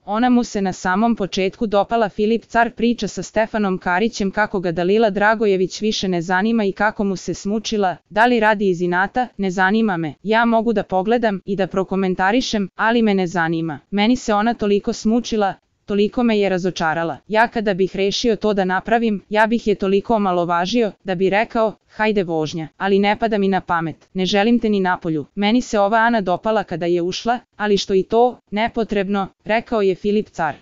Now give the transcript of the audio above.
Ona mu se na samom početku dopala. Filip Car priča sa Stefanom Karićem kako ga Dalila Dragojević više ne zanima i kako mu se smučila. Da li radi iz inata? Ne zanima me. Ja mogu da pogledam i da prokomentarišem, ali me ne zanima. Meni se ona toliko smučila, toliko me je razočarala. Ja kada bih rešio to da napravim, ja bih je toliko omalovažio, da bi rekao, hajde vožnja, ali ne pada mi na pamet. Ne želim te ni napolju. Meni se ova Ana dopala kada je ušla, ali što i to, nepotrebno, rekao je Filip Car.